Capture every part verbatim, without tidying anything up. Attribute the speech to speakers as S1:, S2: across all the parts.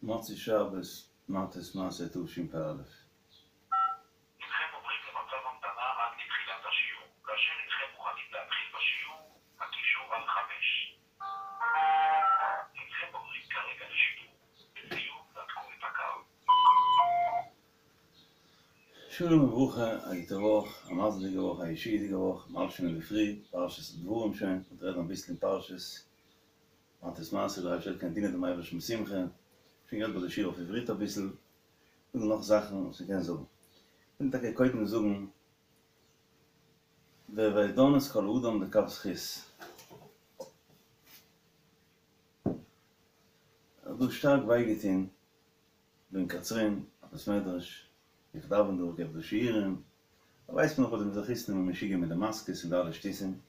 S1: מוצאי שבת, מטות מסעי תשפ"א.
S2: הנכם עוברים למצב המתנה עד לתחילת השיעור. כאשר הנכם מוכנים להתחיל בשיעור, הקישו על חמש. הנכם עוברים כרגע לשידור. לסיום, נתקו את הקו.
S1: שלום וברכה, א גוטע וואך, א מזל'דיגע וואך, א ישועה'דיגע וואך, מ'האלט שוין אינדערפרי, פרשת דברים שוין, מ'וועט רעדן אביסל אין פרשת מטות מסעי, דער אייבערשטער קען דינען דעם אייבערשטן בשמחה, שוין גערעדט ביי די שיעור אויף עברית אביסל, דא נאך זאכן וואס מ'קען זאגן. כ'וויל טאקע קודם זאגן והוי דן את כל האדם לכף זכות. האט דא שטארק וויי געטון דא אין קצרין, א בית מדרש, איך דאווען דא, איך געב דא שיעורים, דא ווייסט מען נאך וואס די מזרחיסטן זענען משוגע מיט די מאסקעס און די אלע שטותים,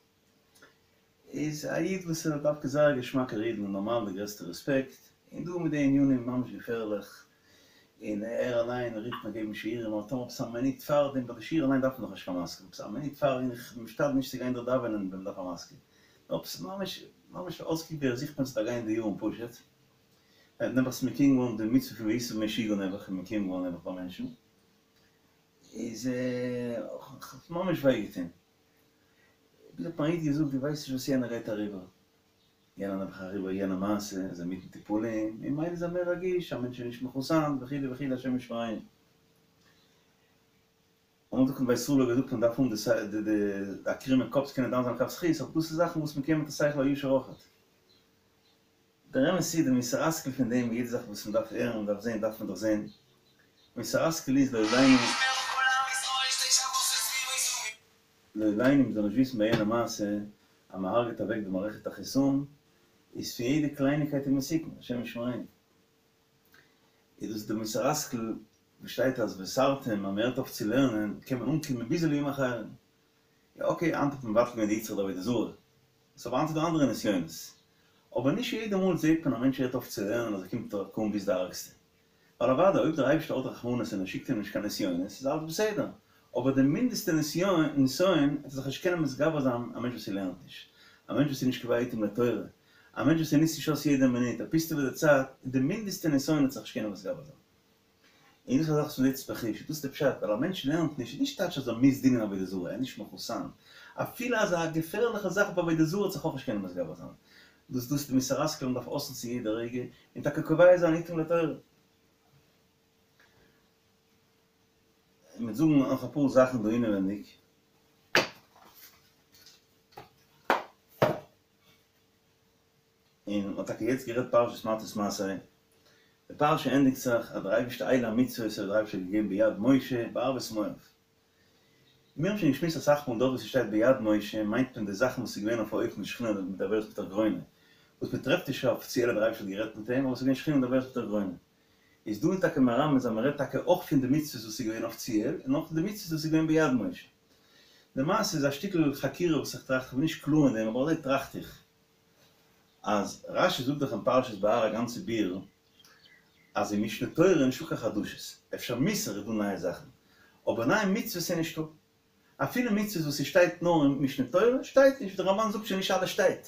S1: איז א איד וואס איז דווקא זייער א געשמאקער איד און נארמאל די גרעסטע רעספעקט, און דא מיט די ענינים ממש געפערליך, און ער אליין רופט מיר געבן שיעורים, אבער טאמער עפעס א מינוט פארדעם, ביי די שיעור אליין דארף מען דאך נישט קיין מאסקע, עפעס א מינוט פאר, און איך בין משתדל נישט צו גיין דארט דאווענען ווען מ'דארף א מאסקע, נאר עפעס ממש ממש אויסקוקט ווי ער זוכט מיר צו דערגיין די יארן פשוט, נעבעך ס'איז מקוים געווארן די מצוה פון והיית משוגע נעבעך איז מקוים געווארן נעבעך ביי מענטשן, איז האט ממש וויי געטון. ביז האט מיר א איד געזאגט דו ווייסט נישט וואס יענער גייט אריבער, יענער נעבעך אריבער יענע מעשה, איז ער מיטן טיפולים, ממילא איז ער מער רגיש, א מענטש איז נישט מחוסן וכו' וכו' השם ישמרינו. אמאל זאגט מען ביי ישראל האט געזאגט מען דארף האבן די די א קרומע קאפ צו קענען דן זיין לכף זכות, אבער דאס איז זאכן וואס מען קען מיט א שכל הישר אויכעט. דער אמת איז, די מוסר השכל פון דעם, יעדע זאך וואס מען דארף הערן און דארף זען, דארף מען דאך זען. מוסר השכל איז לא עלינו, לא עלינו, מען זאל נישט וויסן ביי יענע מעשה אז מען הרג'ט אוועק די מערכת החיסון, איז פון יעדע קלייניקייט איז מסוכן, השם ישמרינו. איז דאס די מוסר השכל וואס שטייט אז וסרתם אז מען הערט אויף צו לערנען קען מען אנקומען ביז אלהים אחרים. יא אקעי היינט האט מען מבטל געווען די יצרא דעבודה זרה, ס'איז אבער היינט איז דא אנדערע נסיונות. אבער נישט יעדע מאל זעט מען א מענטש הערט אויף צו לערנען אז ער קומט אן ביז די ארגסטע. ווייל אוודאי אויב דער אייבערשטער האט רחמנות און ער שיקט אים נישט קיין נסיונות איז אלעס בסדר, אבער די מינדעסטע נסיון וועט ער זיך נישט קענען מתגבר זיין, א מענטש וואס ער לערנט נישט, א מענטש וואס איז נישט קובע עתים לתורה, א מענטש וואס ער נוצט נישט אויס יעדע מינוט, ער פוסטעוועט די צייט, די מינדעסטע נסיון וועט זיך נישט קענען מתגבר זיין. און דאס איז א זאך וואס מ'זעט עס בחוש, דאס איז די פשט, ווייל א מענטש לערנט נישט, איז נישט טייטש אז ער מוז דינען עבודה זרה, ער איז נישט מחוסן, אפילו אזא געפערליכע זאך ווי עבודה זרה וועט זיך אויך נישט קענען מתגבר זיין, דאס דאס איז די מוסר השכל מ'דארף אויסנוצן יעדע רגע, און טאקע קובע זיין עתים לתורה. און מ'וועט זאגן נאך אפאר זאכן דא אינעווענדיג. און מ'האט טאקע יעצט גערעדט פרשת מטות מסעי, די פרשה ענדיגט זיך אז דער אייבערשטער אלה המצוות האט דער אייבערשטער געגעבן ביד משה בערבות מואב. מיר האבן שוין געשמועסט אסאך מאל דארט וואו ס'שטייט ביד משה מיינט מען די זאכן וואס איז געווען אויף א אופן שכינה מדברת מתוך גרונו, וואס מ'טרעפט נישט אפיציעל אז דער אייבערשטער האט גערעדט מיט אים אבער ס'איז געווען שכינה מדברת מתוך גרונו. איז דא טאקע מרמז אז מ'רעדט טאקע אויך פון די מצוות וואס איז געווען אפיציעל און אויך פון די מצוות וואס איז געווען ביד משה. למעשה איז א שטיקל חקירה וואס איך טראכט, כ'בין נישט קלאר אין דעם אבער אזוי טראכט איך. אז רשי זאגט דאך אין פרשת בהר א גאנצע ביאור אז אין משנה תורה איז נישטא קיין חדשות, אפשר מוסר איז דא נייע זאכן, אבער נייע מצוות איז נישטא. אפילו מצוות וואס ס'שטייט נאר אין משנה תורה שטייט נישט, דער רמבן זאגט שוין נישט אלעס שטייט,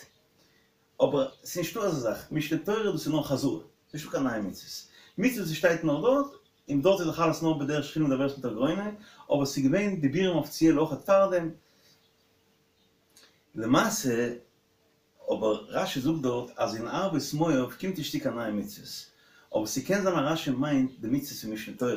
S1: אבער ס'איז נישטא אזא זאך, משנה תורה דאס איז נאר חזרה, ס'איז נישטא קיין נייע מצוות. מצוות וואס שטייט נאר דארט, און דארט איז דאך אלעס נאר בדרך שכינה מדברת מתוך גרונו, אבער ס'איז געווען דיבורים אפיציעל אויכעט פארדעם. למעשה אבער רשי זאגט דארט אז אין ערבות מואב קומט נישט צו קיין נייע מצוות, אבער ס'קען זיין אז רשי מיינט די מצוות פון משנה תורה,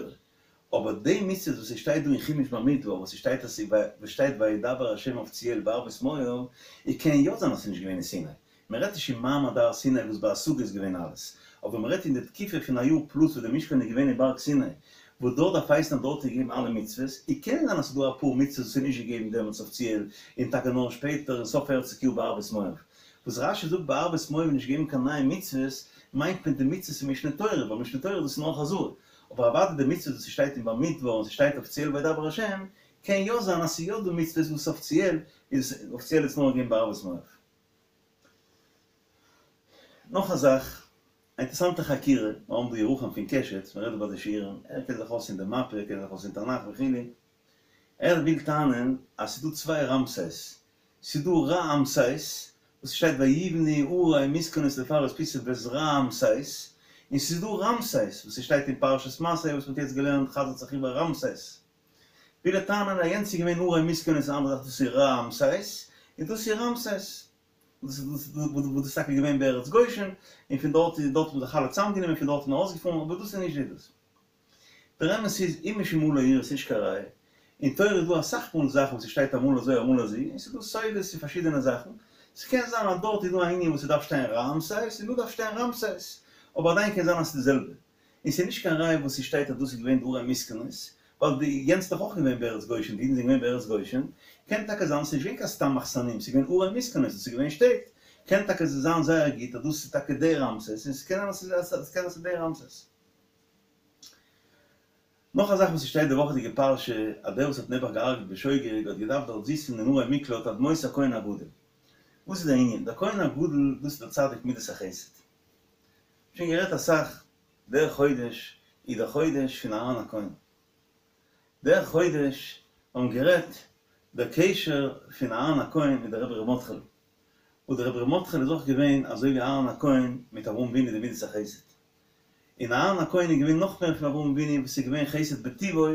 S1: אבער די מצוות וואס ס'שטייט דא אין חומש במדבר וואס ס'שטייט אז וואס שטייט וידבר ה' אפיציעל בערבות מואב, איז קען יא זיין אז ס'נישט געווען אין סיני, מ'רעדט נישט אין מעמד הר סיני וואס בהשגה איז געווען אלעס, אבער מ'רעדט אין די תקופה פון א יאר פלוס וואס די משכן איז געווען אין בארג סיני, וואס דארט דארף הייסן אז דארט איז געגעבן אלע מצוות, און קען זיין אז ס'איז דא אפאר מצוות וואס איז נישט געגעבן דעמאלטס אפיציעל, און טאקע נאר שפעטער אין סוף פערציג יאר בערבות מואב. וואס רשי זאגט בערבות מואב איז נישט געגעבן קיין נייע מצוות, מיינט מען די מצוות פון משנה תורה, ווייל משנה תורה דאס איז נאר חזרה. אבער אוודאי די מצוות וואס ס'שטייט אין במדבר און ס'שטייט אפיציעל וידבר השם, קען יא זיין אז ס'איז יא דא מצוות וואס אפיציעל איז אפיציעל איז נאר געגעבן בערבות מואב. נאך א זאך. א אינטערסאנטע חקירה, מיר האבן דא ירוחם פון קשת, מען רעדט דא ביי די שיעורים, ער קען זיך אויס אין די מאפע, ער קען זיך אויס אין תנך וכו', ער וויל טענה'ן אז ס'איז דא צוויי רעמסס, ס'איז דא רעמסס וואס שטייט ויבנו ערי מסכנות לפרעה את פיתום ואת רעמסס, און ס'איז דא רעמסס וואס ס'שטייט אין פרשת מסעי וואס מ'האט יעצט געלערנט חזר'ט זיך איבער רעמסס. וויל ער טענה'ן אז יענץ איז געווען ערי מסכנות אן אנדערע זאך דאס איז רעמסס און דאס איז רעמסס. וואס דאס איז טאקע געווען בארץ גושן און פון דארט איז דארט האט מען זיך אלע צוזאמגענומען און פון דארט איז מען ארויסגעפארן אבער דאס איז נישט די דאס. דער אמת איז אם משום הא לא איריא ס'נישט קיין ראיה. אין תורה איז דא אסאך מאל זאכן וואס ס'שטייט אמאל אזוי אמאל אזוי און ס'איז דא סודות און פארשידענע זאכן. ס'קען זיין אז דארט איז דא א ענין וואס ס'דארף שטיין רעמסס און דא דארף שטיין רעמסס אבער עדיין קען זיין אז ס'איז די זעלבע. און ס'איז נישט קיין ראיה וואס ס'שטייט אז דאס איז געווען די ערי מסכנות, ווייל די יענץ איז דאך אויך געווען בארץ גושן, די אידן זענען געווען בארץ גושן, קען טאקע זיין ס'איז נישט געווען קיין סתם מחסנים, ס'איז געווען ערי מסכנות און ס'איז געווען שטעט, קען טאקע זיין זייער גוט אז דאס איז טאקע די רעמסס, און ס'קען זיין אז ס'איז קען זיין ס'איז די רעמסס. נאך א זאך וואס ס'שטייט די וואכעדיגע פרשה, אז דער וואס האט נעבעך געהארגעט בשוגג האט געדארפט דארט זיצן אין ערי מקלט עד מות הכהן הגדול. וואס איז דער ענין? דער כהן הגדול דאס איז דער צדיק מידת החסד. שוין גערעדט אסאך, דער חודש איז דער חודש פון אהרן הכהן. דער חודש האבן גערעדט דער קשר פון אהרן הכהן מיט דער רבי ר' מרדכי'לע, וואס דער רבי ר' מרדכי'לע איז אויך געווען אזוי ווי אהרן הכהן מיט אברהם אבינו די מידת החסד. און אהרן הכהן איז געווען נאך מער פון אברהם אבינו וואס איז געווען חסד בטבעו,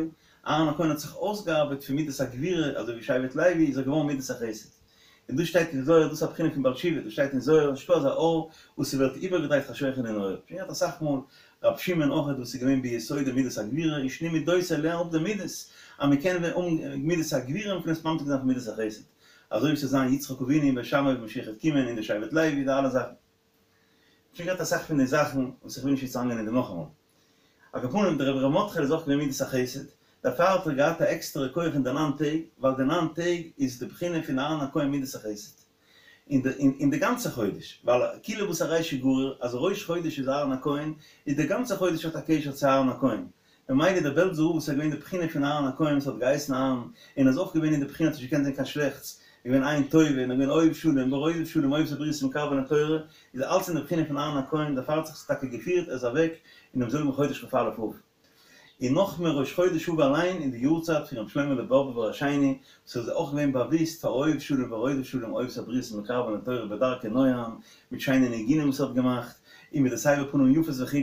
S1: אהרן הכהן האט זיך אויסגעארבעט פון מידת הגבורה אזוי ווי שבט לוי איז ער געווארן מידת החסד. און דאס שטייט אין זוהר, דאס איז א בחינה פון בעל תשובה, דאס שטייט אין זוהר, נישטא אזא אור וואס ס'ווערט איבערגעדרייט חשוכא לנהורא. שוין געהאט אסאך מאל ר' שמעון אויכעט וואס איז געווען ביסודו מידת הגבורה, און שני מידותיו לערן אפ די מידות, אז מ'קען ווערן מידת הגבורה און מ'קען עס ממתיק זיין פון מידת החסד. אזוי ווי ס'זאל זיין יצחק אבינו און בית שמאי ווען משיח וועט קומען און די שבט לוי די אלע זאכן. שוין געהאט אסאך פון די זאכן וואס איך וויל נישט יעצט אריינגיין אין דעם נאכאמאל. על כל פנים דער רבי ר' מרדכי'לע איז אויך געווען מידת החסד, דערפאר האט ער געהאט א עקסטערע כח אין די ניין טעג, ווייל די ניין טעג איז די בחינה פון אהרן הכהן מידת החסד, אין די אין די גאנצע חודש, ווייל כוליה בתר רישא גריר, אז ראש חודש איז אהרן הכהן, איז די גאנצע חודש האט א קשר צו אהרן הכהן, ממילא דער בעלזער רב וואס איז געווען די בחינה פון אהרן הכהן וואס האט געהייסן אהרן, און איז אויך געווען אין די בחינה האט נישט געקענט זען קיין שלעכטס, איז געווען עין טובה און איז געווען אוהב שלום ורודף שלום אוהב את הבריות ומקרבן לתורה, איז אלץ אין די בחינה פון אהרן הכהן, דערפאר האט זיך עס טאקע געפירט ער איז אוועק אינעם זעלבן חודש כ"א אב. און נאכמער ראש חודש אב אליין אין די יארצייט פון רבי שלמה'לע באבובער השני וואס איז אויך געווען באוויסט פאר אוהב שלום ורודף שלום אוהב את הבריות ומקרבן לתורה בדרכי נועם מיט שיינע ניגונים וואס ער האט געמאכט און מיט די סבר פנים יפות וכו'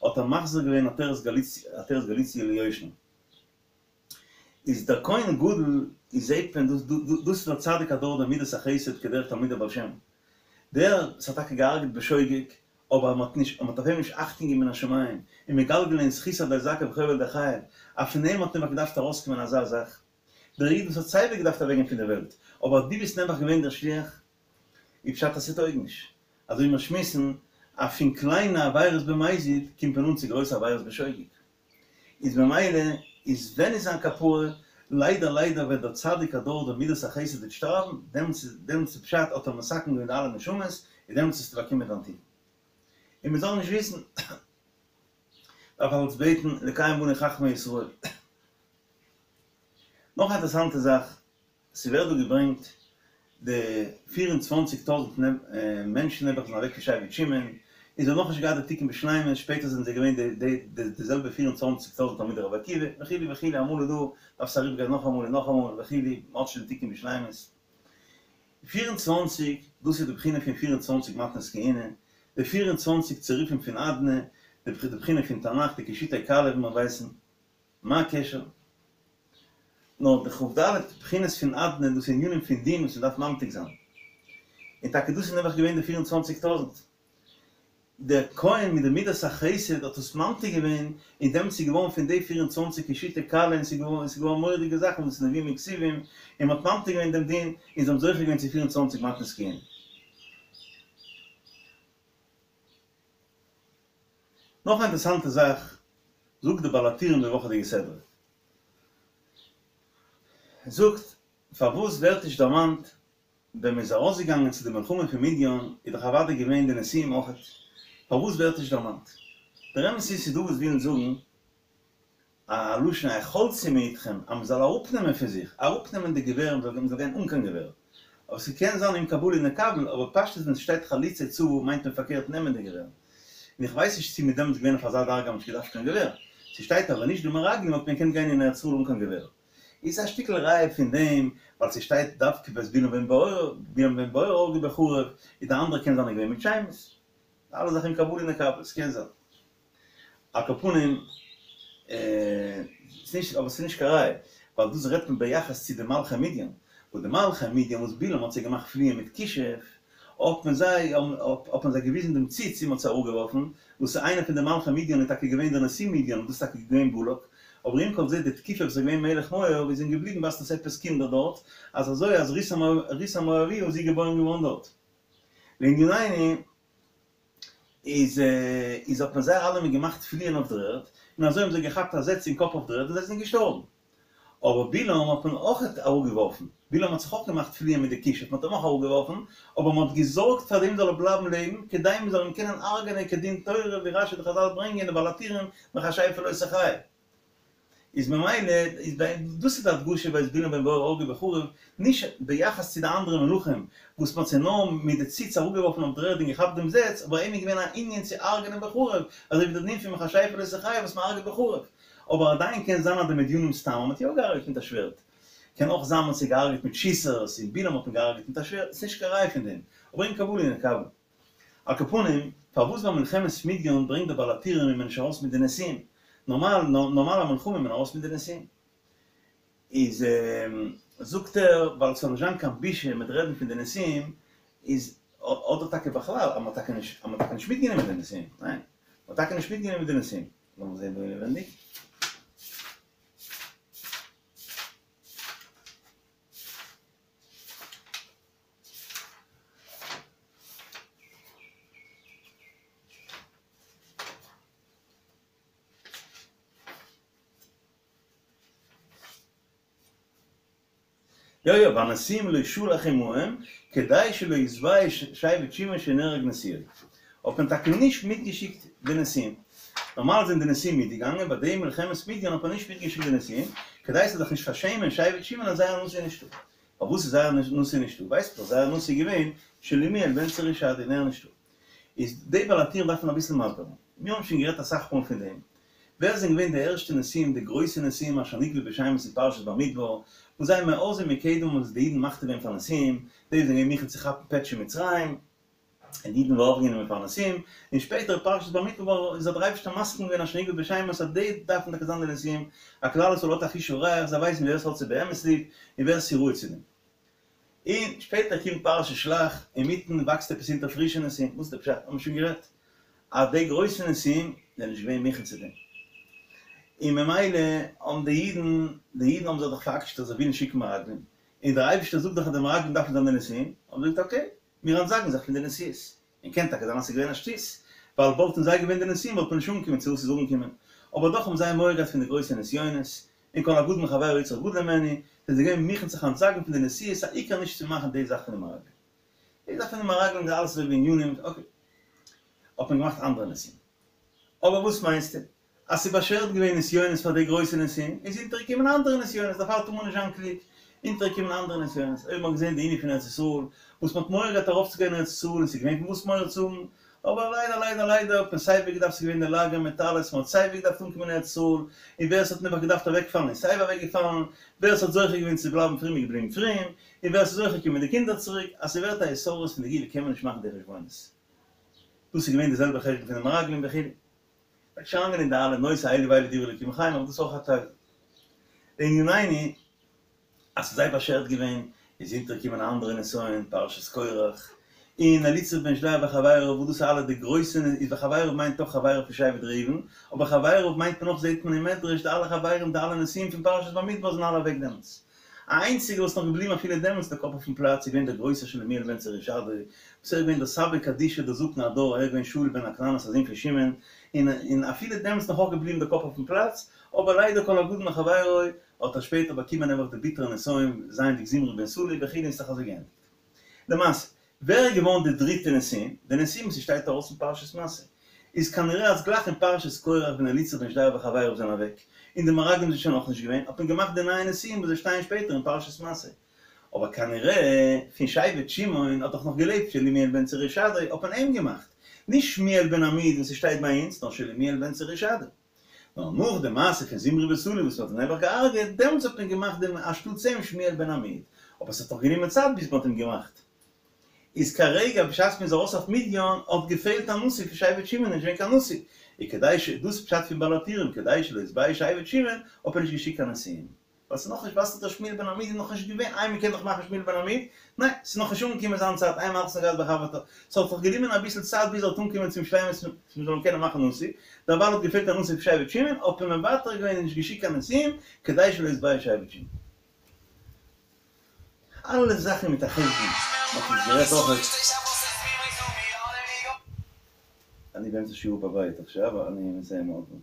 S1: האט ער מחזיר געווען עטרת גאליציע עטרת גאליציע ליושנה איז דער כהן גדול איז זעהט מען דאס דאס איז דער צדיק הדור דער מידת החסד כדרך תלמידי בעל שם דער וואס האט טאקע געהארגעט בשוגג אבער מען האט נישט מען האט אויף אים נישט אכטונג געגעבן מן השמים און מגלגל געווען זכות על ידי זכאי וחוב על ידי חייב אז פון אים האט נעבעך געדארפט ארויסקומען אזא זאך דער איד וואס האט סייווי געדארפט אוועקגיין פון דער וועלט אבער דו ביסט נעבעך געווען דער שליח איז פשט אז ס'טויג נישט. אזוי ווי מיר שמועסן אז פון קליינע עבירות במזיד קומט מען אן צו גרויסע עבירות בשוגג. איז ממילא איז ווען איז זיין כפרה? ליידער ליידער ווען דער צדיק הדור דער מידת החסד וועט שטארבן, דעמאלטס איז דעמאלטס איז פשט האט ער מתקן געווען די אלע נשמות, און דעמאלטס וועסטו באקומען דיין תיקון. און מ'זאל נישט וויסן דארף אלץ בעטן לקיים בנו חכמי ישראל. נאך א אינטערעסאנטע זאך. ס'ווערט דא געברענגט די פֿיר און צוואַנציק טויזנט מענטשן נעבעך זענען אוועק פון שבט שמעון, און זיי האבן נאכנישט געהאט די תיקון בשלימות, שפעטער זענען זיי געווען די די זעלבע פֿיר און צוואַנציק טויזנט תלמידי רבי עקיבא, וכו' וכו', אמאל איז דא, דארף עס אריבערגיין נאכאמאל און נאכאמאל וכו', מ'האט שוין די תיקון בשלימות. פֿיר און צוואַנציק, דאס איז די בחינה פון פֿיר און צוואַנציק מתנות כהונה, די פֿיר און צוואַנציק צירופים פון אדני, די בחינה פון תנך, די קישוטי כלה ווי מיר ווייסן. מה הקשר? נאר די כ"ד בחינות פון אדני דאס איז ענינים פון דין וואס מ'דארף ממתיק זיין. און טאקע דאס איז נעבעך געווען די פֿיר און צוואַנציק טויזנט. דער כהן מיט די מידת החסד האט עס ממתיק געווען, און דעמאלטס איז געווארן פון די פֿיר און צוואַנציק קישוטי כלה און ס'איז געווארן ס'איז געווארן מורא'דיגע זאכן וואס איז נביאים און כתובים, און מ'האט ממתיק געווען דעם דין, און זיי האבן זוכה געווען צו פֿיר און צוואַנציק מתנות כהונה. נאך א אינטערעסאנטע זאך זאגט די בעל הטורים די וואכעדיגע סדרה. ער זאגט פארוואס ווערט נישט דערמאנט ווען מען איז ארויסגעגאנגען צו די מלחמה פון מדיין איז דאך אוודאי געווען די נשיאים אויכעט, פארוואס ווערט נישט דערמאנט? דער אמת איז ס'איז דא וואס ווילן זאגן א לשון החלצו מאתכם אז מ'זאל אראפנעמען פון זיך, אראפנעמען די געווער, מ'זאל מ'זאל גיין אן קיין געווער. אבער ס'קען זיין אם קבלה נקבל, אבער פשטות ווען ס'שטייט חלוצי צבא מיינט מען פארקערט נעמען די געווער. און איך ווייס נישט צו מ'איז דעמאלטס געווען אויף אזא דרגה אז מ'האט נישט געדארפט קיין געווער. ס'שטייט אבער נישט די מרגלים האט מען געקענט גיין אין ארץ ישראל אן קיין געווער. איז א שטיקל ראיה פון דעם ווייל ס'שטייט דווקא ואת בלעם בן בעור, בלעם בן בעור הרגו בחרב, איז די אנדערע קען זיין געווען מיט שמות. אלע זאכן אם קבלה נקבל, ס'קען זיין. על כל פנים, ס'נישט, אבער ס'נישט קיין ראיה, ווייל דאס רעדט מען ביחס צו די מלכי מדין, וואס די מלכי מדין וואס בלעם האט זיי געמאכט פליען מיט כישוף, האט מען זיי, האט מען זיי געוויזן דעם ציץ און מ'האט זיי אראפגעווארפן, וואס איינער פון די מלכי מדין איז טאקע געווען דער נשיא מדין, און דאס איז טאקע געווען בלק, אבער עם כל זה די תקופה וואס איז געווען מלך מואב איז אים געבליבן ווייזט עפעס קינדער דארט, אז אזוי אז רות המואביה איז זי געבוירן געווארן דארט. לענינינו איז איז האט מען זיי אלעמען געמאכט פליען אויף דער ערד, און אזוי האבן זיי געכאפט א זעץ אין קאפ אויף דער ערד און זיי זענען געשטארבן. אבער בלעם האט מען אויך אראפגעווארפן, בלעם האט זיך אויך געמאכט פליען מיט די כישוף, מען האט אים אויך אראפגעווארפן, אבער מען האט געזארגט פאר דעם זאל ער בלייבן לעבן, כדי מען זאל אים קענען הרג'ענען כדין תורה, ווי רש"י די חז"ל ברענגען די בעל הטורים מכשפה לא תחיה. איז ממילא איז דאס איז די הדגשה ואת בלעם בן בעור הרגו בחרב, נישט ביחס צו די אנדערע מלכים וואס מען האט זיי נאר מיט די ציץ אראפגעווארפן אויף דער ערד און געכאפט דעם זעץ, אבער אים איז געווען א ענין צו הרג'נען בחרב, אזוי ווי דער דין פון מכשפה לא תחיה וואס מען הרג'ט בחרב. אבער עדיין קען זיין אז די מדינים סתם האט מען יא געהארגעט מיט א שווערד. קען אויך זיין מען האט זיי געהארגעט מיט שיסערס און בלעם האט מען געהארגעט מיט א שווערד, ס'נישט קיין ראי' פון דעם. אבער אם קבלה נקבל. על כל פנים, פארוואס ביי מלחמת מדין ברענגט דער בעל הטורים איז מען נישט ארויס מיט די נשיאים? נארמאל, נארמאל א מלחמה איז מען ארויס מיט די נשיאים. איז זאגט ער, ווייל ס'זאל נישט זיין קיין בושה מיט רעדן פון די נשיאים, איז אדער טאקע בכלל אז מ'האט טאקע נישט, אז מ'האט טאקע נישט מיטגענומען די נשיאים, ניין, מ'האט טאקע נישט מיטגענומען די נשיאים. לאמיר זען דא אינעווענדיג. יא יא, והנשיאים לא שלח עמהם, כדי שלא יתבייש שבט שמעון שנהרג נשיאו. האט מען טאקע נישט מיטגעשיקט די נשיאים. נארמאל זענען די נשיאים מיטגעגאנגען, ביי די מלחמת מדין האט מען נישט מיטגעשיקט די נשיאים, כדי ס'זאל זיך נישט פארשעמען שבט שמעון אז זייער נשיא איז נישטא. פארוואס איז זייער נשיא נישטא? ווייסט מען דאך, זייער נשיא איז געווען שלומיאל בן צורישדי און ער איז נישטא. איז די בעל הטורים דארף מען אביסל מסביר זיין. מיר האבן שוין גערעדט אסאך מאל פון דעם. ווער זענען געווען די ערשטע נשיאים, די גרויסע נשיאים אשר נקבו בשמות אין פרשת במדבר, וואס זיי מאז ומקדם האבן זיך די אידן מכתיר געווען פאר נשיאים, די זענען געווען מוכן צו כאפן פעטש אין מצרים, און די אידן ווערן אויפגענומען פאר נשיאים, און שפעטער פרשת במדבר איז האט דער אייבערשטער מסכים געווען אשר נקבו בשמות אז די דארפן טאקע זיין די נשיאים, א כלל ישראל האט א חוש הריח, זיי ווייסן ווער עס האט זיי באמת ליב, און ווער עס איז ראוי צו דעם. און שפעטער קומט פרשת שלח, אינמיטן וואקסט עפעס אונטער פרישע נשיאים, וואס איז די פשט? האבן מיר שוין גערעדט אז די גרויסע נשיאים זענען נישט געווען מוכן צו דעם, און ממילא האבן די אידן, די אידן האבן זיך דאך פארעקשנט אז זיי ווילן שיקן מרגלים, און דער אייבערשטער זאגט דאך אז די מרגלים דארפן זיין די נשיאים, האבן זיי געזאגט אקעי, מיר אנטזאגן זיך פון די נשיאות, און קען טאקע זיין אז ס'איז געווען א שטות, ווייל וואלטן זיי געווען די נשיאים וואלט מען נישט אנגעקומען צו וואס ס'איז אנגעקומען, אבער דאך האבן זיי מורא געהאט פון די גרויסע נסיונות, און כל הגדול מחבירו יצרך גדול ממנו, זענען זיי געווען מוכן זיך אנטזאגן פון די נשיאות, א עיקר נישט צו מאכן די זאך פון די מרגלים. די זאך פון די מרגלים איז אלעס אזוי ווי ענינים, אקעי. האט מען געמאכט אנדערע נשיאים. אבער וואס מיינסטו? אז ס'איז באשערט געווען נסיונות פאר די גרויסע נשיאים, איז אונטערגעקומען אנדערע נסיונות, דערפאר טאר מען נישט זיין קלוג, אונטערגעקומען אנדערע נסיונות, אויב מ'האט געזען די ענין פון ארץ ישראל, וואס מ'האט מורא געהאט ארויפצוגיין אין ארץ ישראל, און ס'איז געווען פון וואס מורא צו האבן, אבער ליידער ליידער ליידער האט מען סייווי געדארפט, ס'איז געווען די לאגע מיט אלעס, מ'האט סייווי געדארפט אנקומען אין ארץ ישראל, און ווער ס'האט נעבעך געדארפט אוועקפאלן איז סייווי אוועקגעפאלן, ווער ס'האט זוכה געווען צו בלייבן פרום איז געבליבן פרום, און ווער ס'איז זוכה קומען די קינדער צוריק, אז ס'ווערט א התעוררות פון די גאולה קען מען נישט מאכן די חשבונות. דאס איז געווען די זעלבע חשבון פון די מרגלים וכו'. וועט שוין אריינגיין אין די אלע נושא אלו ואלו דברי אלוקים חיים, אבער דאס איז אויך א טייל. לענינינו, אז ס'איז זיי באשערט געווען, איז אונטערגעקומען א אנדערע נסיון, פרשת קורח, און אליצור בן שדיאור וחביריו, וואס דאס איז אלע די גרויסע, איז וחביריו מיינט אויך חביריו פון שבט ראובן, אבער חביריו מיינט מען אויך זעט מען אין מדרש די אלע חברים די אלע נשיאים פון פרשת במדבר זענען אלע אוועק דעמאלטס. א איינציגער וואס איז נאך געבליבן אפילו דעמאלטס די קאפ אויפן פלאץ איז געווען דער גרויסער שלומיאל בן צורישדי, וואס ער איז געווען דער סבא קדישא דער זקן הדור, ער איז געווען שאול בן הכנענית א זון פון שמעון, און און אפילו דעמאלטס נאך אויך געבליבן די קאפ אויפן פלאץ, אבער ליידער כל הגדול מחבירו האט ער שפעטער באקומען נעבעך די ביטערע נסיון זייענדיג זמרי בן סלוא וכו' און ס'האט זיך אזוי געענדיגט. למעשה, ווער איז געווארן די דריטע נשיאים? די נשיאים וואס ס'שטייט ארויס אין פרשת מסעי, איז כנראה אז גלייך אין פרשת קורח ווען אליצור בן שדיאור וחביריו זענען אוועק, און די מרגלים זענען שוין אויך נישט געווען, האט מען געמאכט די נייע נשיאים וואס זיי שטייען שפעטער אין פרשת מסעי. אבער כנראה פון שבט שמעון האט דאך נאך געלעבט שלומיאל בן צורישדי, האט מען אים געמאכט, נישט שמואל בן עמיהוד וואס ס'שטייט ביי אונז, נאר שלומיאל בן צורישדי. נאר נאך די מעשה פון זמרי בן סלוא וואס מ'האט אים נעבעך געהארגעט, דעמאלטס האט מען געמאכט דעם אנשטאטס אים שמואל בן עמיהוד, אבער ס'האט דאך גענומען צייט ביז מ'האט אים געמאכט. איז כרגע בשעת מ'איז ארויס אויף מדין האט געפעלט א נשיא פון שבט שמעון, נישט געווען קיין נשיא, און כדי ש, דאס פשט פון בעל הטורים, כדי שלא יתבייש שבט שמעון, האט מען נישט געשיקט קיין נשיאים. ווייל ס'איז נאכנישט ווייסט דער שמואל בן עמיהוד איז נאכנישט געווען, איי מ'קען דאך מאכן שמואל בן עמיהוד? ניין, ס'איז נאכנישט אנגעקומען זיין צייט, אין מלכות נוגעת בחברתה, ס'האט זיך גענומען אביסל צייט ביז ער וועט אנקומען צום שלימות מ'זאל אים קענען מאכן נשיא, דערווייל האט געפעלט א נשיא פון שבט שמעון, האט מען מוותר געווען און נישט געשיקט קיין נשיאים, כדי שלא יתבייש שבט שמעון. אלע זאכן מיט א חשבון, מ'האט נישט גערעדט אויך. אני באמצע שיעור בבית עכשיו, אני מסיים עוד מעט.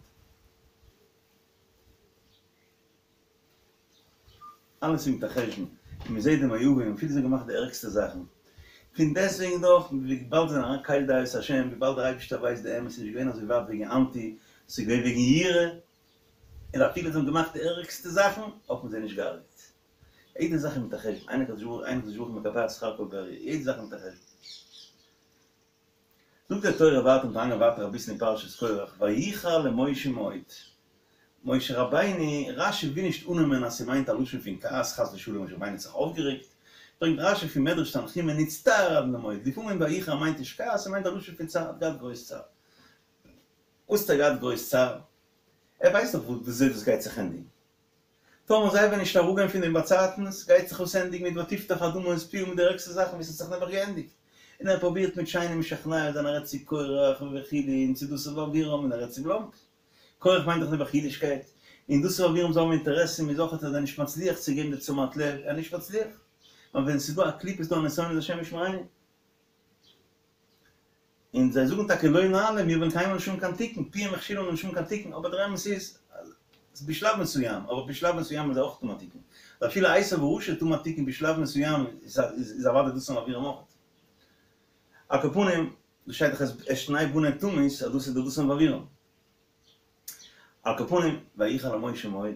S1: אלעס איז מיט א חשבון, און מען זעט די מואבים אפילו זיי האבן געמאכט די ערגסטע זאכן, פון דעסטוועגן דאך, וויבאלד זיי זענען אריין קל דעות השם, וויבאלד דער אייבערשטער ווייסט די אמת, ס'איז נישט געווען אזוי ווייט וועגן אנטי, ס'איז געווען וועגן יראה, און אפילו זיי האבן געמאכט די ערגסטע זאכן, האט מען זיי נישט געהארגעט. יעדע זאך איז מיט א חשבון, אין הקדוש ברוך אין הקדוש ברוך הוא מקפח שכר כל ברי', יעדע זאך איז מיט א חשבון. זאגט די תורה ווייטער מיר גייען ווייטער אביסל אין פרשת קורח, ויחר למשה מאוד, משה רבינו, רשי וויל נישט אננעמען אז ס'מיינט א לשון פון כעס חס ושלום משה רבינו האט זיך אויפגערעגט, ברענגט רשי פון מדרש תנחומא נצטער עד למאוד, לפעמים ויחר מיינט נישט כעס ס'מיינט א לשון פון צער, האט געהאט גרויס צער. וואס האט ער געהאט גרויס צער? ער ווייסט דאך וויאזוי דאס גייט זיך ענדיגן. טאמער זיי וועלן נישט אראפגיין פון דעם באצייטנס, גייט זיך עס ענדיגן מיט ותפתח האדמה את פיה מיט די ערגסטע זאכן ווי ס'האט זיך נעבעך געענדיגט. און ער פרובירט מיט שיינעם משכנע זיין ער רעדט צו קורח וכו' און צו דתן ואבירם און ער רעדט צו בלאנק. קורח מיינט דאך נעבעך אידישקייט, און דתן ואבירם זיי האבן אינטערעסן איז אויך ער נישט מצליח צו געבן די תשומת לב, ער איז נישט מצליח. ווייל ווען ס'איז דא א קליפה איז דא א נסיון איז השם ישמרינו. און זיי זאגן טאקע לא נעלה, מיר וועלן קיינמאל נישט האבן קיין תיקון, פיהם הכשילנו נישט האבן קיין תיקון, אבער דער אמת איז אז בשלב מסוים, אבער בשלב מסוים איז אויך טאן א תיקון, ואפילו עשו הרשע טאן א תיקון בשלב מסוים איז אוודאי דתן ואבירם אויך. על כל פנים, דא שטייט דאך את שני בני תמית אז דאס איז די דתן ואבירם. על כל פנים, ויחר למשה מאוד,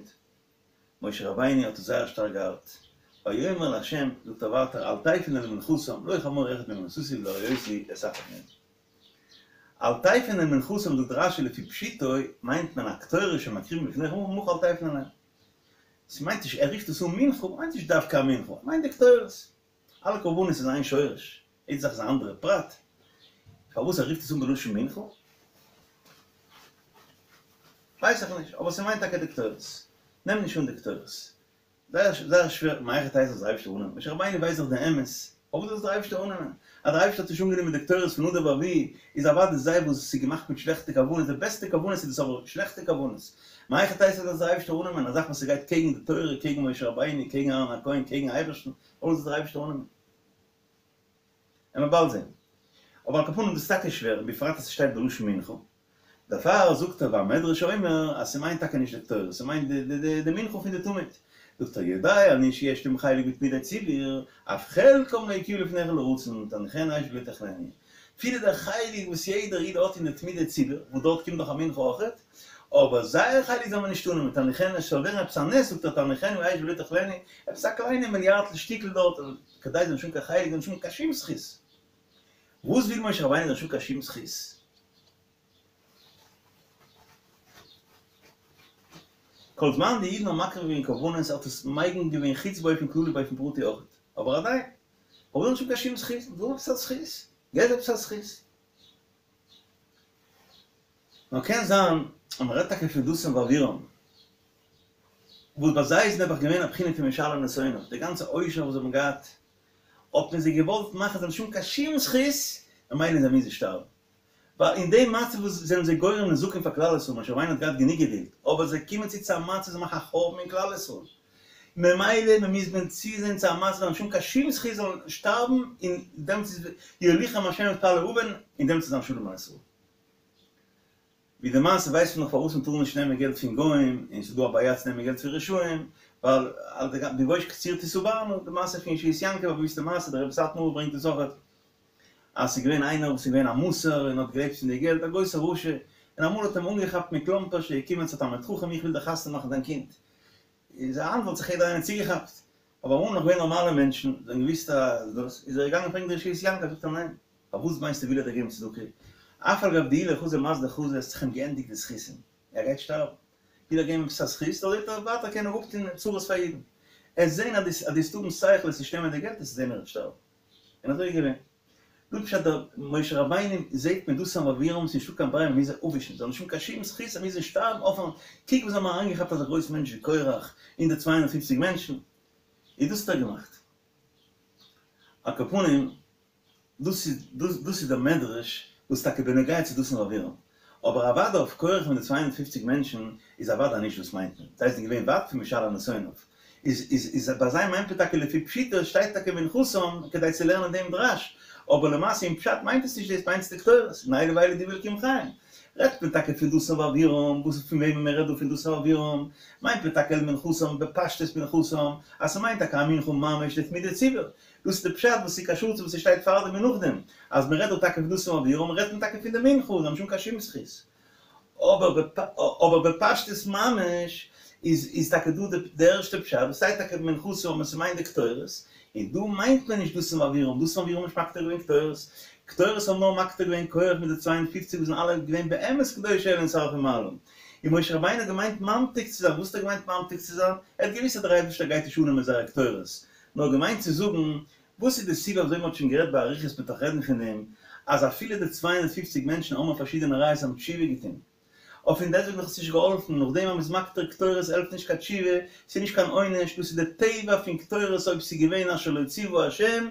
S1: משה רבינו האט עס זייער שטארק געארט, ויאמר לה', זאגט ער ווייטער, אל תפן אל מנחתם, לא חמור אחד מהם נשאתי ולא הרעותי את אחד מהם. אל תפן אל מנחתם זאגט רשי לפי פשוטו מיינט מען הקטורת שמקריבים לפניך מנחה אל תפן אליהם. ס'מיינט נישט, ער רופט עס אן מנחה, מיינט נישט דווקא א מנחה, מיינט די קטורת. אלע קרבנות איז איין שורש, יעדע זאך איז א אנדערע פרט, פארוואס ער רופט עס אן בלשון מנחה ווייס איך נישט, אבער ס'מיינט טאקע די קטורת, נעם נישט אן די קטורת, זייער זייער שווער, מהיכי תיתי זאל דער אייבערשטער אננעמען, משה רבינו ווייסט דאך די אמת, פארוואס זאל עס דער אייבערשטער אננעמען? אז דער אייבערשטער האט נישט אנגענומען די קטורת פון נדב ואביהוא, איז אוודאי זיי וואס עס איז געמאכט מיט שלעכטע כוונות, די בעסטע כוונות איז דאס אבער שלעכטע כוונות, מהיכי תיתי זאל עס דער אייבערשטער אננעמען, א זאך וואס ס'גייט קעגן די תורה, קעגן משה רבינו, קעגן אהרן הכהן, קעגן אייבערשטן, פארוואס זאל עס דער אייבערשטער אננעמען? עמער באלד זען. אבער על כל פנים דאס איז טאקע שווער, בפרט אז ס'שטייט בלשון מנחה. דערפאר זאגט ער והמדרש אומר אז ס'מיינט טאקע נישט די קטורת, ס'מיינט די מנחה פון די תמיד. זאגט ער יודע אני שיש להם חלק בתמידי ציבור, אף חלקם לא יקריבו לפניך לרצון, תניחנו אש ולא תאכלנו. אפילו דער חלק וואס יעדער איד האט אין די תמידי ציבור, וואס דארט קומט דאך א מנחה אויכעט, אבער זייער חלק זאל מען נישט אננעמען, תניחנו אש, ס'זאל ווערן עפעס א נס, זאגט ער תניחנו אש ולא תאכלנו, עפעס א קליינע מיליארדל שטיקל דארט, כדי זאל נישט האבן קיין חלק, זאל נישט האבן קיין שום זכות. וואס וויל משה רבינו זאל נישט האבן קיין שום זכות? כל זמן די אידן האבן מקריב געווען קרבנות האט עס מגין געווען חוץ באופן כללי באופן פרטי אויך, אבער עדיין, פארוואס זאל נישט האבן קיין שום זכות? זאל האבן עפעס א זכות, געב עפעס א זכות. נאר קען זיין אז מען רעדט טאקע פון דתן ואבירם, וואס ביי זיי איז נעבעך געווען א בחינה פון משלם לשונאיו, די גאנצע עושר וואס זיי האבן געהאט, האט מען זיי געוואלט מאכן זיי זאלן נישט האבן קיין שום זכות, ממילא זיי מוזן שטארבן. ווייל אין דעם מצב וואס זענען זיי גורם נזקים פאר כלל ישראל, משה רבינו האט געהאט גענוג געדולד, אבער זיי קומען צו צו א מצב זיי מאכן א חורבן אין כלל ישראל, ממילא מען מוז מען צוזען צו א מצב זיי נישט האבן קיין שום זכות זאלן שטארבן, און דעמאלטס איז יוליכם השם את פלאי עוון, און דעמאלטס איז זיין שלום על ישראל. ווי די מעשה ווייסט מען נאך פארוואס מען טאר נישט נעמען געלט פון גוים, און ס'איז דא א בעיה צו נעמען געלט פון רשעים, ווייל בבוש קציר תשבענה, די מעשה פון ישועות יעקב, א באוויסטע מעשה, דער רבי סאטמאר ברענגט עס אויכעט, אז ס'איז געווען איינער וואס איז געווען א מסור און האט געלעבט פון די געלט, א גרויסע רשע, און אמאל האט אים אנגעכאפט מכלומפערשט ער איז געקומען צו א תלמיד חכם איך וויל דיר חתונה מאכן דיין קינד, איז היינט וואלט זיך יעדער איינער צוגעכאפט, אבער אמאל נאך געווען נארמאלע מענטשן, זיי האבן געוואוסט אז דאס, איז ער געגאנגען פרעגן דער ישועות יעקב, זאגט ער ניין, פארוואס מיינסטו וויל ער דיר געבן צדקה, אף על גב דאיהו לא חזי מזליה חזי, עס האט זיך אים געענדיגט די זכותים, ער גייט שטארבן, וויל ער געבן עפעס א זכות, זאל ער ווייטער קענען אפטון צרות פאר אידן, עסט זען אז דו וועסט האבן שכל עסט נישט נעמען די געלט, עסט זען ער וועט שטארבן. און אזוי איז געווען. דא פשט דער משה רבינו זעהט מיט דתן ואבירם ס'איז נישטא קיין ברירה מ'מוז זיי אפווישן, זיי האבן נישט קיין שום זכות זיי מוזן שטארבן אויפן קוק וואס זיי האבן אריינגעכאפט אזא גרויסן מענטש ווי קורח און די צוויי הונדערט פופציג מענטשן איז דאס האט ער געמאכט. על כל פנים דאס איז דאס איז דער מדרש וואס טאקע בנוגע צו דתן ואבירם. אבער אוודאי אויף קורח מיט די צוויי הונדערט פֿופֿציק מענטשן איז אוודאי נישט דאס מיינט מען, זיי זענען געווען ווייט פון משל נסיוניו, איז איז איז ביי זיי מיינט מען טאקע לפי פשוטו שטייט טאקע מנחתם כדי צו לערנען דעם דרש, אבער למעשה אין פשט מיינט עס נישט דאס מיינט עס די קטורת, און אלו ואלו דברי אלקים חיים. רעדט מען טאקע פון דתן ואבירם, וואס פון וועמען מען רעדט דא פון דתן ואבירם, מיינט מען טאקע אל מנחתם בפשטות מנחתם, אז ס'מיינט טאקע א מנחה ממש לתמידי ציבור, דאס איז די פשט וואס איז קשור צו וואס ס'שטייט פארדעם און נאכדעם, אז מ'רעדט דא טאקע פון דתן ואבירם רעדט מען טאקע פון די מנחה, זיי האבן שוין קיין שום זכות. אבער בפשטות ממש איז איז טאקע דא די ערשטע פשט וואס שטייט טאקע מנחתם און ס'מיינט די קטורת, און דא מיינט מען נישט דתן ואבירם, דתן ואבירם האבן נישט מקטיר געווען קטורת, קטורת האבן נאר מקטיר געווען קורח מיט די צוויי און פֿופֿציק וואס זענען אלע געווען באמת קדושי עליון שרפי מעלה. און משה רבינו האט געמיינט ממתיק צו זיין, וואס האט ער געמיינט ממתיק צו זיין? ער האט געוויסט אז דער אייבערשטער גייט נישט אננעמען זייער קטורת, נאר געמיינט צו זאגן, וואס איז די סיבה אזוי מ'האט שוין גערעדט באריכות מ'וועט נאך רעדן פון דעם, אז אפילו די צוויי הונדערט פֿופֿציק מענטשן האבן פארשידענע ראיות האבן תשובה געטון, אויף פון דעסטוועגן האט עס נישט געהאלפן, נאכדעם אז מ'איז מקטיר קטורת העלפט נישט קיין תשובה, ס'איז נישט קיין עונש, דאס איז די טבע פון קטורת אויב ס'איז געווען אשר לא ציוה השם,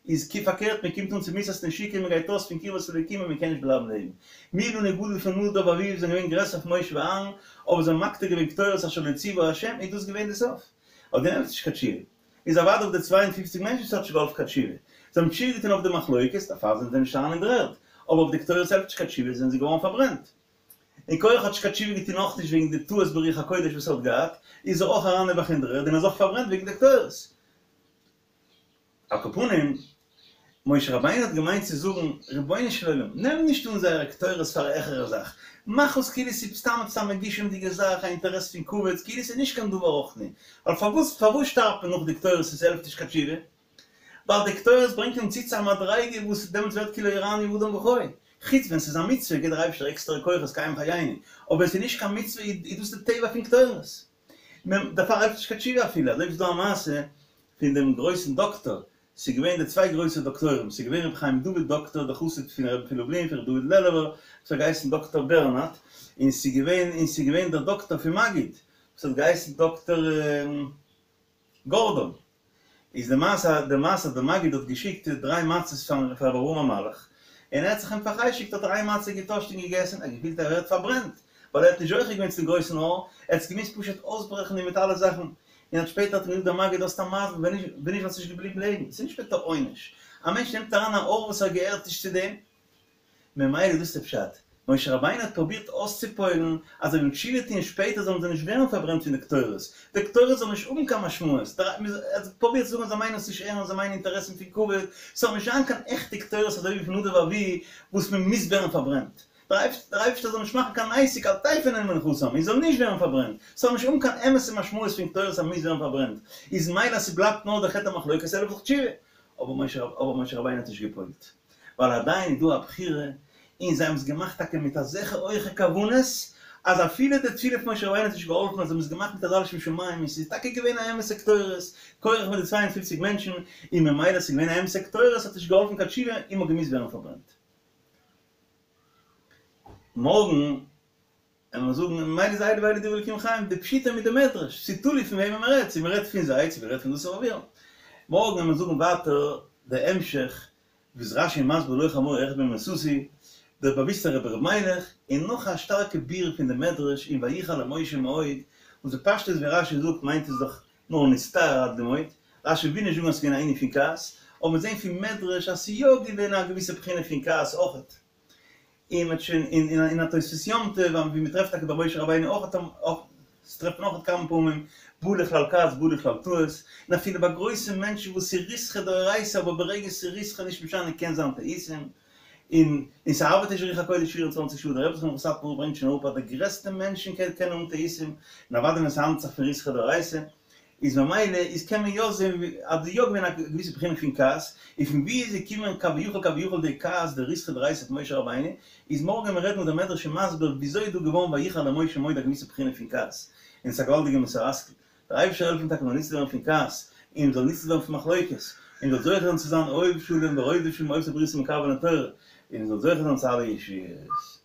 S1: איז כי פארקערט מ'קומט אן צו מיתת נשיקה מ'גייט אויס פון קרבת אלוקים און מ'קען נישט בלייבן לעבן. מי לנו גדול פון נדב ואביהוא זענען געווען גרעסער פון משה ואהרן, אבער זיי האבן מקטיר געווען קטורת אשר לא ציוה השם, איז דאס געווען די סוף. אויף דעם העלפט נישט קיין תשובה. איז אוודאי אויף די צוויי און פֿופֿציק מענטשן ס'האט נישט געהאלפן קיין תשובה. זיי האבן תשובה געטון אויף די מחלוקת, דערפאר זענען זיי נישט אריין אין דר'ערד. אבער אויף די קטורת העלפט נישט קיין תשובה, זענען זיי געווארן פארברענט. און קורח האט נישט קיין תשובה געטון אויך נישט וועגן די טעות ברוח הקודש וואס ער האט געהאט, איז ער אויך אריין נעבעך אין דר'ערד און איז אויך פארברענט וועגן די קטורת. על כל פנים, משה רבינו האט געמיינט צו זאגן, רבונו של עולם, נעם נישט אן זייערע קטורת פאר א העכערע זאך, מאך עס כאילו ס'איז סתם עפעס א מגושמ'דיגע זאך, א אינטערעס פון כבוד, כאילו ס'איז נישט קיין דבר רוחני. ווייל פארוואס פארוואס שטארבט מען נאך די קטורת און ס'העלפט נישט קיין תשובה? ווייל די קטורת ברענגט אים צו צו א מדריגה וואס דעמאלטס ווערט כי לא יראני האדם וחי. חוץ ווען ס'איז א מצוה גיבט דער אייבערשטער עקסטערע כוחות קיים חייני, אבער ווען ס'איז נישט קיין מצוה איז דאס די טבע פון קטורת. דערפאר העלפט נישט קיין תשובה אפילו, אזוי ווי ס'איז דא א מעשה פון דעם גרויסן דאקטאר, ס'איז געווען די צוויי גרויסע דאקטוירים, ס'איז געווען רבי חיים דוד דאקטאר דער חסיד פון רבי פון לובלין פון רבי דוד לעלובער וואס האט געהייסן דאקטאר בערנארד, און ס'איז געווען און ס'איז געווען דער דאקטאר פון מגיד וואס האט געהייסן דאקטאר גארדאן. איז די מעשה די מעשה אז די מגיד האט געשיקט דריי מצות פאר פאר רבי אברהם המלאך, און ער האט זיך אים פאר'חשק'ט האט ער איין מצה געטאשט און געגעסן, ער האט געפילט ער ווערט פארברענט, ווייל ער האט נישט זוכה געווען צום גרויסן אור, ער האט עס געמוזט פשוט אויסברעכן און מיט אלע זאכן, און האט שפעטער האט אים געזאגט דער מגיד האסט א מזל ווען נישט ווען נישט וואלסטו נישט געבליבן לעבן, ס'איז נישט מיט א עונש, א מענטש נעמט אריין א אור וואס ער געהערט נישט צו דעם, ממילא דאס איז די פשט, משה רבינו האט פרובירט אויסצופועל'ן אז זיי וועלן תשובה טוהן שפעטער זאלן זיי נישט ווערן פארברענט פון די קטורת, די קטורת זאל נישט האבן קיין משמעות, ער האט פרובירט צו זאגן אז זיי מיינען עס נישט ערנסט, זיי מיינען אינטערעסן פון כבוד, ס'זאל נישט זיין קיין עכטע קטורת אזוי ווי פון נדב ואביהוא וואס מען מוז ווערן פארברענט, דער אייבערשטער זאל נישט מאכן קיין עסק אל תפנה מנחתם, און זאל נישט ווערן פארברענט, ס'זאל נישט האבן קיין אמת'ע משמעות פון קטורת אז מ'מוז ווערן פארברענט, איז מילא אז ס'בלייבט נאר דער חטא המחלוקת העלפט דאך תשובה, אבער משה רבינו האט נישט געפועלט. ווייל עדיין איז דא א בחירה, און זיי האבן עס געמאכט טאקע מיט אזעלכע הויכע כוונות, אז אפילו די תפילה פון משה רבינו האט נישט געהאלפן, אז זיי האבן עס געמאכט מיט אזא לשם שמים, און ס'איז טאקע געווען א אמת'ע קטורת, קורח מיט די צוויי און פֿופֿציק מענטשן, און ממילא ס'איז געווען א אמת'ע קטורת האט נישט געהאלפן קיין תשובה, און מ'האט געמוזט ווערן פארברענט. מארגן וועלן מיר זאגן, ממילא איז אלו ואלו דברי אלקים חיים, די פשיטא מיט די מדרש, ס'איז תלוי פון וועמען מ'רעדט, צו מ'רעדט פון זיי, צו מ'רעדט פון דתן ואבירם. מארגן וועלן מיר זאגן ווייטער די המשך וואס רש"י איז מסביר לא חמור אחד מהם נשאתי, דער באוויסטער רבי ר' מיילעך, און נאך א שטארקע ביאור פון די מדרש אין ויחר למשה מאוד, וואס בפשטות ווי רש"י זאגט מיינט עס דאך נאר נצטער עד דמעות, רש"י וויל נישט זאגן אז ס'איז געווען א ענין פון כעס, אבער מיר זעהן פון מדרש אז ס'איז יא געווען א געוויסע בחינה פון כעס אויכעט. און מ'האט שוין אין אין א תוספות יום טוב ווי מ'טרעפט טאקע ביי משה רבינו אויך אויך ס'טרעפט מען אויך כמה פעמים בא לכלל כעס בא לכלל טעות, און אפילו ביי גרויסע מענטשן וואס ס'איז ריתחא דאורייתא אבער ברגע ס'איז ריתחא נישט משנה קען זיין טעותים, און און ס'ארבעט נישט רוח הקודש פֿיר און צוואַנציק שעה, דער רבי זכרונו לברכה סאטמאר ברענגט שוין אראפ אז די גרעסטע מענטשן קענען האבן טעותים, און אוודאי ווען ס'האנדלט זיך פון ריתחא דאורייתא. איז ממילא איז קען מען יא זעהן אז דא יא געווען א געוויסע בחינה פון כעס, און פון ווי איז געקומען כביכול כביכול די כעס די ריתחא דאורייתא פון משה רבינו, איז מארגן ווען מיר רעדן איז דער מדרש מסביר וויאזוי איז דא געווארן ויחר למשה מאוד א געוויסע בחינה פון כעס, און עס איז א געוואלדיגע מוסר השכל, דער אייבערשטער העלפן טאקע מ'זאל ניצול ווערן פון כעס, און מ'זאל ניצול ווערן פון מחלוקת, און זאל זוכה זיין צו זיין אוהב שלום ורודף שלום עושה ברית ומקרבן לתורה, און זאל זוכה זיין צו אלע ישועות.